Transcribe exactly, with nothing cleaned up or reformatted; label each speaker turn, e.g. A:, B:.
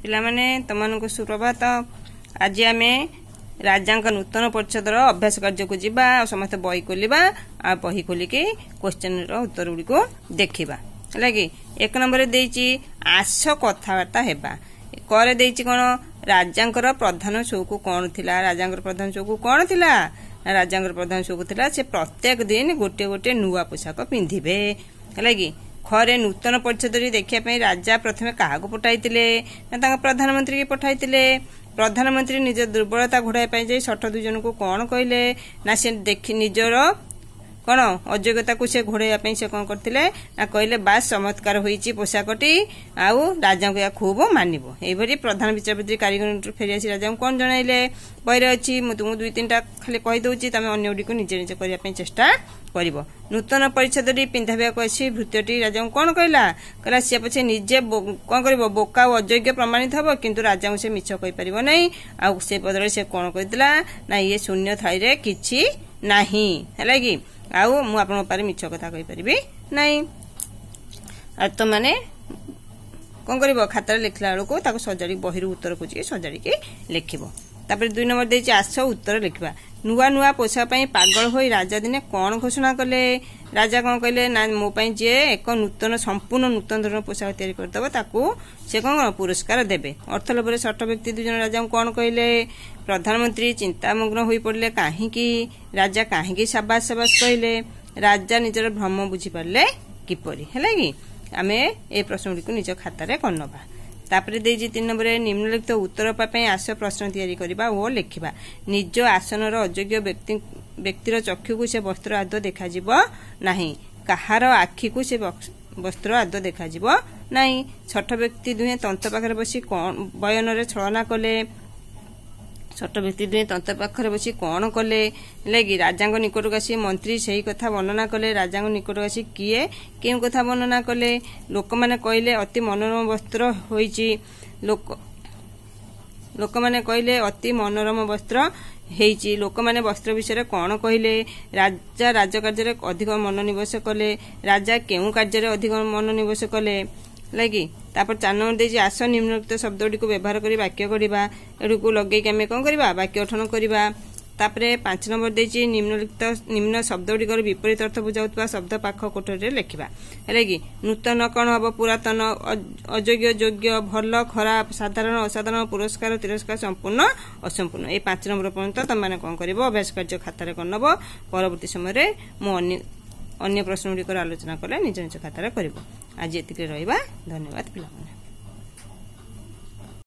A: ପିଲାମାନେ ତମମାନଙ୍କୁ ସୁପ୍ରଭାତ ଆଜି ଆମେ ରାଜାଙ୍କ ନୂତନ ପରିଚ୍ଛଦର ଅଭ୍ୟାସ କାର୍ଯ୍ୟକୁ ଯିବା ଆଉ ସମସ୍ତେ ବହି ଖୋଲିବା ଆଉ ବହି ଖୋଲିକି କ୍ୱେଶ୍ଚନର ଉତ୍ତର ଗୁଡ଼ିକୁ ଦେଖିବା ହେଲା କି ଏକ ନମ୍ବରରେ ଦେଇଛି ଆସ କଥାବାର୍ତ୍ତା ହେବା କରେ ଦେଇଛି କ'ଣ ରାଜାଙ୍କର ପ୍ରଧାନ ସଉକ କ'ଣ ଥିଲା ରାଜାଙ୍କର ପ୍ରଧାନ ସଉକ କ'ଣ ଥିଲା ନା ରାଜାଙ୍କର ପ୍ରଧାନ ସଉକ ଥିଲା ସେ ପ୍ରତ୍ୟେକ ଦିନ ଗୋଟିଏ ଗୋଟିଏ ନୂଆ ପୋଷାକ ପିନ୍ଧିବେ ହେଲା କି ଖରେ ନୂତନ ପରିଚ୍ଛଦଟି ଦେଖିବା ପାଇଁ ରାଜା ପ୍ରଥମେ କାହାକୁ ପଠାଇଥିଲେ ନା ତାଙ୍କ ପ୍ରଧାନମନ୍ତ୍ରୀକି ପଠାଇଥିଲେ ପ୍ରଧାନମନ୍ତ୍ରୀ ନିଜ ଦୁର୍ବଳତା ଘୋଡ଼ାଇବା ପାଇଁ ଯାଇ ଶଠ ଦୁଇ ଜଣଙ୍କୁ କ'ଣ କହିଲେ ନା ସେ ଦେଖି ନିଜର କ'ଣ ଅଯୋଗ୍ୟତାକୁ ସେ ଘୋଡ଼ାଇବା ପାଇଁ ସେ କ'ଣ କରିଥିଲେ ନା କହିଲେ ବାସ୍ ଚମତ୍କାର ହୋଇଛି ପୋଷାକଟି ଆଉ ରାଜାଙ୍କୁ ଏହା ଖୁବ ମାନିବ ଏଇଭଳି ପ୍ରଧାନ ବିଚାରପତି କାରିଗରଠୁ ଫେରି ଆସି ରାଜାଙ୍କୁ କ'ଣ ଜଣାଇଲେ ବହିରେ ଅଛି ମୁଁ ତୁମକୁ ଦୁଇ ତିନିଟା ଖାଲି କହିଦେଉଛି ତମେ ଅନ୍ୟ ଗୁଡ଼ିକୁ ନିଜେ ନିଜେ କରିବା ପାଇଁ ଚେଷ୍ଟା କରିବ ନୂତନ ପରିଚ୍ଛଦଟି ପିନ୍ଧାଇବାକୁ ଆସି ଭୃତ୍ୟଟି ରାଜାଙ୍କୁ କ'ଣ କହିଲା କହିଲା ସିଏ ପଛେ ନିଜେ କ'ଣ କରିବ ବୋକା ଓ ଅଯୋଗ୍ୟ ପ୍ରମାଣିତ ହେବ କିନ୍ତୁ ରାଜାଙ୍କୁ ସେ ମିଛ କହିପାରିବ ନାହିଁ ଆଉ ସେ ବଦଳରେ ସେ କ'ଣ କହିଥିଲା ନା ଇଏ ଶୂନ୍ୟ ଥାଳିରେ କିଛି ନାହିଁ ହେଲା କି ଆଉ ମୁଁ ଆପଣଙ୍କ ପାଖରେ ମିଛ କଥା କହିପାରିବି ନାହିଁ ଆଉ ତମାନେ କ'ଣ କରିବ ଖାତାରେ ଲେଖିଲା ବେଳକୁ ତାକୁ ସଜାଡ଼ି ବହିରୁ ଉତ୍ତର ଖୋଜିକି ସଜାଡ଼ିକି ଲେଖିବ ତାପରେ ଦୁଇ ନମ୍ବର ଦେଇଛି ଆସ ଉତ୍ତର ଲେଖିବା ନୂଆ ନୂଆ ପୋଷାକ ପାଇଁ ପାଗଳ ହୋଇ ରାଜା ଦିନେ କ'ଣ ଘୋଷଣା କଲେ ରାଜା କ'ଣ କହିଲେ ନା ମୋ ପାଇଁ ଯିଏ ଏକ ନୂତନ ସମ୍ପୂର୍ଣ୍ଣ ନୂତନ ଧରଣର ପୋଷାକ ତିଆରି କରିଦେବ ତାକୁ ସେ କ'ଣ ପୁରସ୍କାର ଦେବେ ଅର୍ଥ ଲୋଭରେ ଷଠ ବ୍ୟକ୍ତି ଦୁଇ ଜଣ ରାଜାଙ୍କୁ କ'ଣ କହିଲେ ପ୍ରଧାନମନ୍ତ୍ରୀ ଚିନ୍ତାମଗ୍ନ ହୋଇପଡ଼ିଲେ କାହିଁକି ରାଜା କାହିଁକି ସାବାସ ସାବାସ କହିଲେ ରାଜା ନିଜର ଭ୍ରମ ବୁଝିପାରିଲେ କିପରି ହେଲା କି ଆମେ ଏ ପ୍ରଶ୍ନଗୁଡ଼ିକୁ ନିଜ ଖାତାରେ କରିନେବା ତାପରେ ଦେଇଛି ତିନି ନମ୍ବରରେ ନିମ୍ନଲିଖିତ ଉତ୍ତର ପାଇଁ ଆସ ପ୍ରଶ୍ନ ତିଆରି କରିବା ଓ ଲେଖିବା ନିଜ ଆସନର ଅଯୋଗ୍ୟ ବ୍ୟକ୍ତି ବ୍ୟକ୍ତିର ଚକ୍ଷୁକୁ ସେ ବସ୍ତ୍ର ଆଦୌ ଦେଖାଯିବ ନାହିଁ କାହାର ଆଖିକୁ ସେ ବସ୍ତ୍ର ଆଦୌ ଦେଖାଯିବ ନାହିଁ ଛଠ ବ୍ୟକ୍ତି ଦୁହେଁ ତନ୍ତ ପାଖରେ ବସି କ'ଣ ବୟନରେ ଛଳନା କଲେ ଛୋଟ ବ୍ୟକ୍ତି ଦୁହେଁ ତନ୍ତ ପାଖରେ ବସି କ'ଣ କଲେ ହେଲା କି ରାଜାଙ୍କ ନିକଟକୁ ଆସି ମନ୍ତ୍ରୀ ସେହି କଥା ବର୍ଣ୍ଣନା କଲେ ରାଜାଙ୍କ ନିକଟକୁ ଆସି କିଏ କେଉଁ କଥା ବର୍ଣ୍ଣନା କଲେ ଲୋକମାନେ କହିଲେ ଅତି ମନୋରମ ବସ୍ତ୍ର ହୋଇଛି ଲୋକ ଲୋକମାନେ କହିଲେ ଅତି ମନୋରମ ବସ୍ତ୍ର ହେଇଛି ଲୋକମାନେ ବସ୍ତ୍ର ବିଷୟରେ କ'ଣ କହିଲେ ରାଜା ରାଜକାର୍ଯ୍ୟରେ ଅଧିକ ମନୋନିବେଶ କଲେ ରାଜା କେଉଁ କାର୍ଯ୍ୟରେ ଅଧିକ ମନୋନିବେଶ କଲେ ହେଲା କି ତାପରେ ଚାରି ନମ୍ବର ଦେଇଛି ଆସ ନିମ୍ନଲିଖିତ ଶବ୍ଦ ଗୁଡ଼ିକୁ ବ୍ୟବହାର କରି ବାକ୍ୟ ଗଢ଼ିବା ଏଗୁଡ଼ିକୁ ଲଗେଇକି ଆମେ କ'ଣ କରିବା ବାକ୍ୟ ଗଠନ କରିବା ତାପରେ ପାଞ୍ଚ ନମ୍ବର ଦେଇଛି ନିମ୍ନଲିଖିତ ନିମ୍ନ ଶବ୍ଦ ଗୁଡ଼ିକର ବିପରୀତ ଅର୍ଥ ବୁଝାଉଥିବା ଶବ୍ଦ ପାଖ କୋଠରୀରେ ଲେଖିବା ହେଲା କି ନୂତନ କ'ଣ ହବ ପୁରାତନ ଅଯୋଗ୍ୟ ଯୋଗ୍ୟ ଭଲ ଖରାପ ସାଧାରଣ ଅସାଧାରଣ ପୁରସ୍କାର ତିରସ୍କାର ସମ୍ପୂର୍ଣ୍ଣ ଅସମ୍ପୂର୍ଣ୍ଣ ଏଇ ପାଞ୍ଚ ନମ୍ବର ପର୍ଯ୍ୟନ୍ତ ତମେମାନେ କ'ଣ କରିବ ଅଭ୍ୟାସ କାର୍ଯ୍ୟ ଖାତାରେ କରିନେବ ପରବର୍ତ୍ତୀ ସମୟରେ ମୁଁ ଅନ୍ୟ ଅନ୍ୟ ପ୍ରଶ୍ନ ଗୁଡ଼ିକର ଆଲୋଚନା କଲେ ନିଜ ନିଜ ଖାତାରେ କରିବ ଆଜି ଏତିକିରେ ରହିବା ଧନ୍ୟବାଦ ପିଲାମାନେ